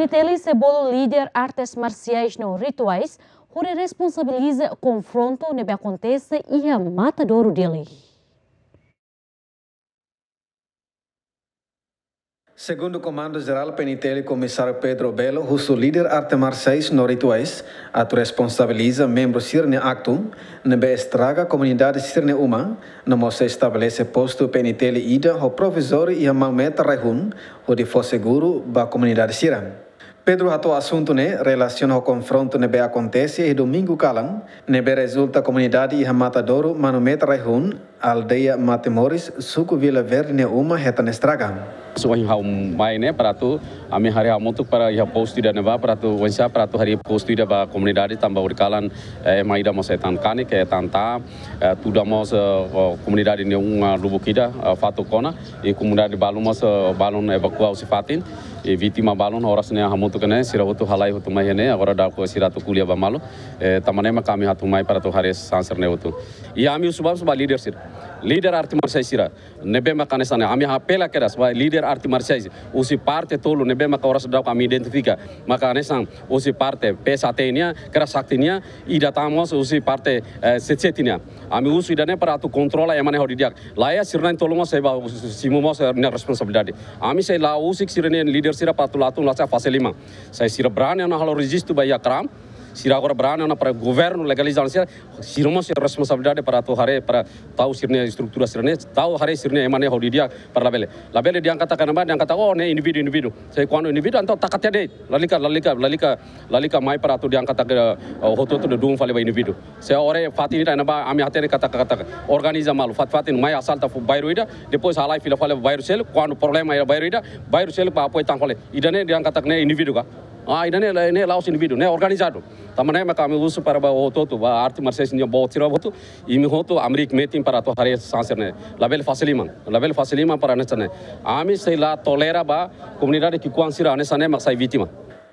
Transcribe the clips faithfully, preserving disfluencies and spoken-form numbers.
Teli sei bolu líder artes marsiais no rituais hodi responsabiliza konfrontu ne'ebé akontese iha Matadouro, Dili. Segundu Komandu Jerál P N I T L, Komisáriu Pedro Belo husu líder arte marsiais no rituais atu responsabiliza membru sira-nia aktu ne'ebé estraga komunidade sira-nia uma, no mós estabelese postu P N I T L ida ho provizóriu iha Maumeta Raihun hodi fó seguru ba komunidade sira. Pedro hato'o asuntu ne'e relasiona ho konfrontu ne'ebé akontese iha domingu kalan, ne'ebé rezulta komunidade iha Matadouro, Maumeta Raihun, aldeia Matemoris, suku Vila Verde nia uma hetan estraga. So, ohin ha'u mai ne'e para atu, ami haree hamutuk para iha postu ida ne'ebá para atu, oinsá para atu harii postu ida ba komunidade tanba horikalan, eh, ema ida mós hetan kanek, hetan ta'a, eh, tuda mós, eh, o, komunidade nia uma lubuk ida, eh, fatuk ona, i komunidade balun mós, eh, balun evakua husi fatin, i vítima balun oras ne'e hamutuk ne'e, sira hotu halai hotu mai ne'e, agora daudaun sira atu ko'alia ba malu, eh, tanba ne'e mak ami atu mai para atu haree sansar ne'e hotu. I ami husu ba, husu ba líder sira. Líder arte marsiais sira. Ne'ebé maka hanesan ne'e, ami apela kedas ba líder arte marsiais husi parte tolu ne'ebé maka oras daudaun ami identifika. Maka hanesan husi parte P S H T nian, kedas Sakti nian, ida tan mós husi parte, eh, C C T nian. Ami husu ida-ne'e para atu kontrola ema ne'e hodi di'ak. Laiha sira na'in-tolu mós sei ba simu mós, eh, nia responsabilidade. Ami sei la husik sira-nia líder sira para atu la tun la sa fase liman. Sai sira brani ona halo rejistu ba iha kram. Sira agora brani ona para governu legaliza sira. Sira mós iha responsabilidade para atu haree, para tau sira-nia estrutura sira-ne'e, tau haree sira-nia ema ne'e hodi di'ak para labele. Labele dehan katak ne'ebá, dehan katak, oh, ne'e indivíduu, indivíduu. Se kuandu indivíduu, entaun taka tiha de'it. Lalika, lalika, lalika, lalika mai para atu dehan katak, eh, hotu-hotu dodun fali ba indivíduu. Se oras fatin ida ne'ebá, ami hatene katak, katak organiza malu. Fat-fatin mai asalta fó bairru ida, depois halai fila fali bairru seluk, kuandu problema iha bairru ida, bairru seluk ba apoiu tan fali. Ida-ne'e dehan katak ne'e indivíduu ka? Ah, ida-ne'e, ne'e la'ós indivíduu, ne'e organizadu. Tanba ne'e maka ami husu para ba hotu-hotu, ba arte marsiais nian boot sira hotu, imi hotu hamriik metin para atu haree sansar ne'e. Labele fase liman, labele fase liman para hanesan ne'e. Ami sei la tolera ba komunidade ki'ikoan sira hanesan ne'e mak sai vítima.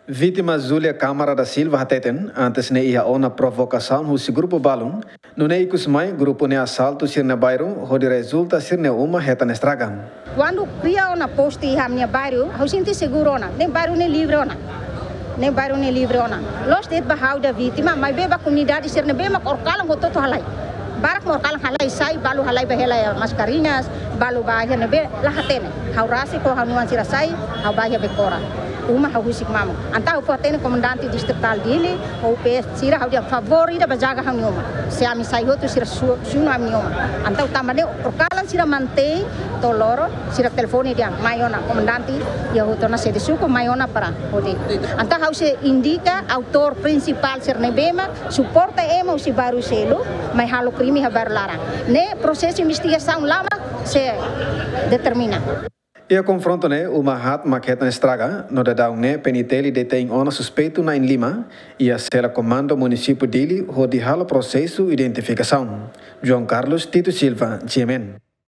Vítima Júlia Câmara da Silva hateten, antes ne'e iha ona provokasaun husi grupu balun, nune'e ikus mai grupu ne'e asaltu sira-nia bairru, hodi rezulta sira-nia uma hetan estraga. Kuandu kria ona postu iha ami-nia bairru, ha'u sente seguru ona, ne'e bairru ne'e livre ona. Ne'e bairru ne'e livre ona. Loos de'it ba ha'u ida vítima, maibé ba komunidade sira ne'ebé mak horikalan hotu-hotu halai. Barak mak horikalan halai, sai, balu halai ba hela iha Mascarenhas, balu ba iha ne'ebé, la hatene. Ha'u rasik ho ha'u-nia oan sira sai, ha'u ba iha Becora. Uma ha'u husik mamuk. Entaun ha'u fó-hatene komandante distritál Dili, ho P S sira ha'u dehan favór ida ba jaga ha'u-nia uma. Se ami sai hotu sira su-, sunu ami-nia uma. Entaun tanba ne'e horikalan sira mantein to'o loron, sira telefone dehan mai ona komandante, iha hotu ona sede suku mai ona para hodi. Entaun ha'u sei indika autór prinsipál sira ne'ebé mak suporta ema husi bairru seluk mai halo krime iha bairru laran. Ne'e prosesu investigasaun lama sei determina. Iha konfrontu ne'e, uma haat mak hetan estraga, no daudaun ne'e P N I T L detein ona suspeitu na'in-lima iha sela komandu munisípiu Dili hodi halo prosesu identifikasaun. João Carlos Tito Silva, G M N.